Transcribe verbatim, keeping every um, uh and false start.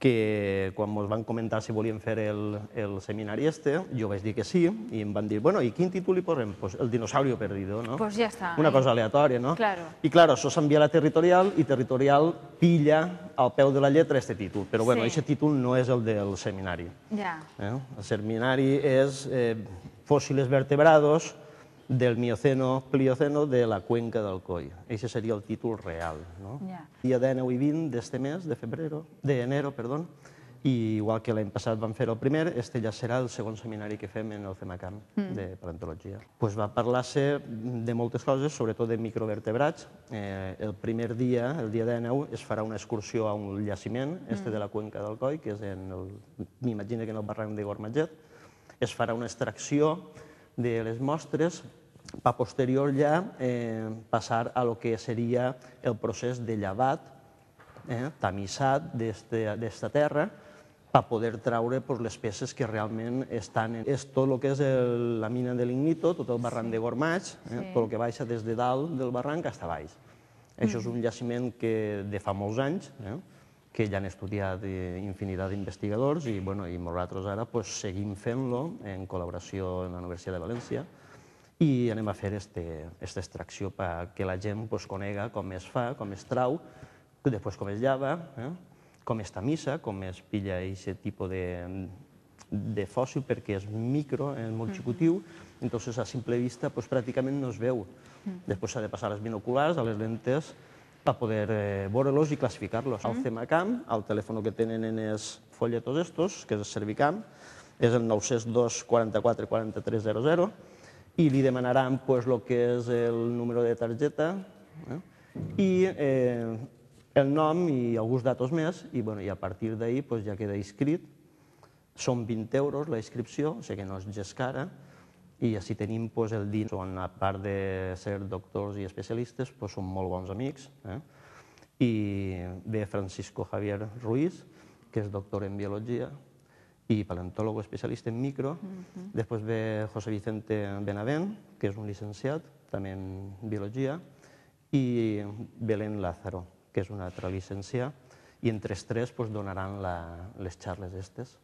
que quan ens van comentar si volien fer el, el seminari este, jo vaig dir que sí, i em van dir, bueno, i quin títol li posem? Pues el dinosaurio perdido, no? Pues ja està. Una cosa aleatòria, no? Claro. I, claro, això s'envia a la territorial i territorial pilla al peu de la lletra este títol. Però, bueno, aquest títol no és el del seminari. Ja. El seminari és fòssils vertebrados del Mioceno, Plioceno, de la cuenca del Coll. Aquest seria el títol real. Dia dinou i vint d'este mes, de febrero, d'enero, perdó, i igual que l'any passat vam fer el primer, este ja serà el segon seminari que fem en el CEMACAM de paleontologia. Pues va parlar-se de moltes coses, sobretot de microvertebrats. El primer dia, el dia dinou, es farà una excursió a un llaciment, este de la cuenca del Coll, que és en el, m'imagino que en el barranc de Gormatget. Es farà una extracció de les mostres per posterior ja passar a lo que seria el procés de llevat, tamissat d'esta terra, per poder traure les peces que realment estan... És tot el que és la mina de lignito, tot el barranc de Gormatx, tot el que baixa des de dalt del barranc fins a baix. Això és un jaciment que de fa molts anys, que ja han estudiat infinitat d'investigadors i nosaltres ara seguim fent-lo en col·laboració amb la Universitat de València i anem a fer aquesta extracció perquè la gent conega com es fa, com es trau, després com es llava, com es tamissa, com es pilla aquest tipus de fòssil perquè és micro, és molt xicotiu, entonces a simple vista pràcticament no es veu. Després s'ha de passar a les binoculars, a les lentes, per poder veure-los i classificar-los. Al CEMACAM, el telèfon que tenen en els folletos estos, que és el Servicam, és el nou zero dos quaranta-quatre quaranta-tres zero zero, i li demanaran el que és el número de targeta i el nom i alguns datos més, i a partir d'ahir ja queda inscrit. Són vint euros la inscripció, o sigui que no és gens cara, i així tenim el dia. A part de ser doctors i especialistes, són molt bons amics. I ve Francisco Javier Ruiz, que és doctor en biologia i paleontòleg especialista en micro. Després ve José Vicente Benavent, que és un llicenciat, també en biologia, i Belén Lázaro, que és una altra llicenciada, i entre els tres donaran les xarles aquestes.